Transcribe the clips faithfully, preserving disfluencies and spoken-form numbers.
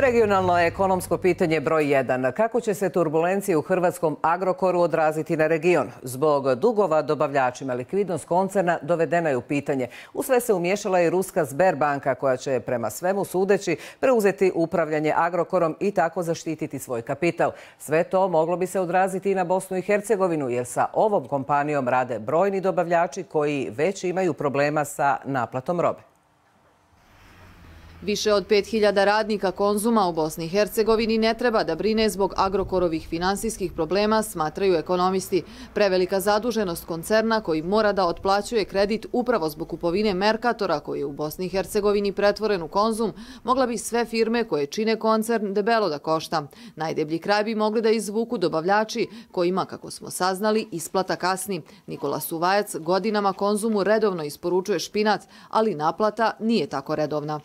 Regionalno ekonomsko pitanje broj jedan. Kako će se turbulencije u hrvatskom Agrokoru odraziti na region? Zbog dugova dobavljačima likvidnost koncerna dovedena je u pitanje. U sve se umiješala i ruska Sberbanka koja će prema svemu sudeći preuzeti upravljanje Agrokorom i tako zaštititi svoj kapital. Sve to moglo bi se odraziti i na Bosnu i Hercegovinu jer sa ovom kompanijom rade brojni dobavljači koji već imaju problema sa naplatom robe. Više od pet hiljada radnika Konzuma u Bosni i Hercegovini ne treba da brine zbog Agrokorovih finansijskih problema, smatraju ekonomisti. Prevelika zaduženost koncerna koji mora da otplaćuje kredit upravo zbog kupovine Merkatora koji je u Bosni i Hercegovini pretvoren u Konzum, mogla bi sve firme koje čine koncern debelo da košta. Najdeblji kraj bi mogli da izvuku dobavljači kojima, kako smo saznali, isplata kasni. Nikola Suvajac godinama Konzumu redovno isporučuje špinac, ali naplata nije tako redovna.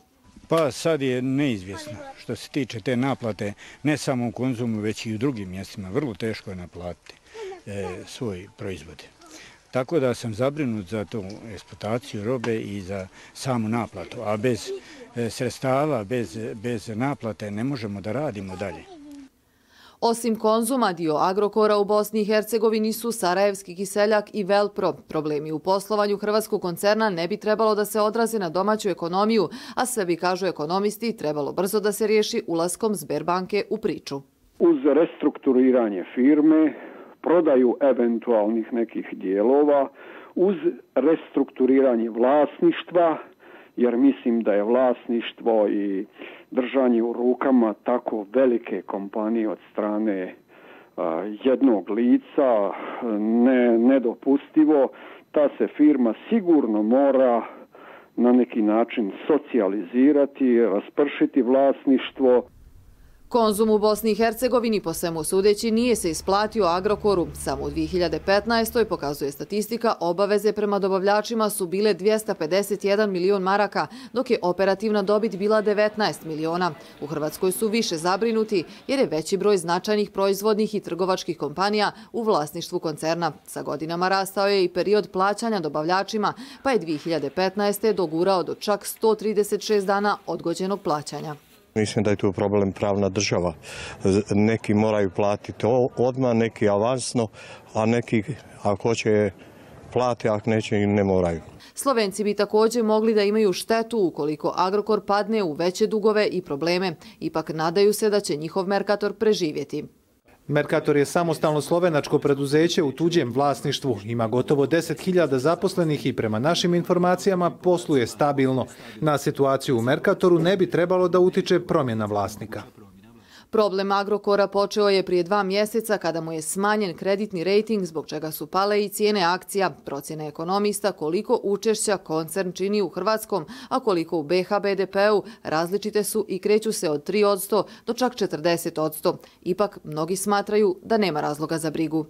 Pa sad je neizvjesno što se tiče te naplate, ne samo u Konzumu, već i u drugim mjestima. Vrlo teško je naplatiti e, svoj proizvod. Tako da sam zabrinut za tu eksploataciju robe i za samu naplatu. A bez e, sredstava, bez, bez naplate ne možemo da radimo dalje. Osim Konzuma, dio Agrokora u Bosni i Hercegovini su Sarajevski kiseljak i Velpro. Problemi u poslovanju hrvatskog koncerna ne bi trebalo da se odraze na domaću ekonomiju, a sve bi, kažu ekonomisti, trebalo brzo da se riješi ulaskom Sberbanke u priču. Uz restrukturiranje firme, prodaju eventualnih nekih dijelova, uz restrukturiranje vlasništva, jer mislim da je vlasništvo i držanje u rukama tako velike kompanije od strane a, jednog lica ne, nedopustivo. Ta se firma sigurno mora na neki način socijalizirati, raspršiti vlasništvo. Konzum u Bosni i Hercegovini po svemu sudeći nije se isplatio Agrokoru. Samo u dvije hiljade petnaestoj pokazuje statistika, obaveze prema dobavljačima su bile dvjesto pedeset jedan milion maraka, dok je operativna dobit bila devetnaest miliona. U Hrvatskoj su više zabrinuti jer je veći broj značajnih proizvodnih i trgovačkih kompanija u vlasništvu koncerna. Sa godinama rastao je i period plaćanja dobavljačima, pa je dvije hiljade petnaeste dogurao do čak sto trideset šest dana odgođenog plaćanja. Mislim da je tu problem pravna država. Neki moraju platiti odmah, neki avansno, a neki ako hoće plati, ako neće i ne moraju. Slovenci bi također mogli da imaju štetu ukoliko Agrokor padne u veće dugove i probleme. Ipak nadaju se da će njihov Merkator preživjeti. Merkator je samostalno slovenačko preduzeće u tuđem vlasništvu. Ima gotovo deset hiljada zaposlenih i prema našim informacijama posluje stabilno. Na situaciju u Merkatoru ne bi trebalo da utiče promjena vlasnika. Problem Agrokora počeo je prije dva mjeseca kada mu je smanjen kreditni rejting zbog čega su pale i cijene akcija. Procjene ekonomista koliko učešća koncern čini u hrvatskom, a koliko u B H B D P-u različite su i kreću se od tri posto do čak četrdeset posto. Ipak mnogi smatraju da nema razloga za brigu.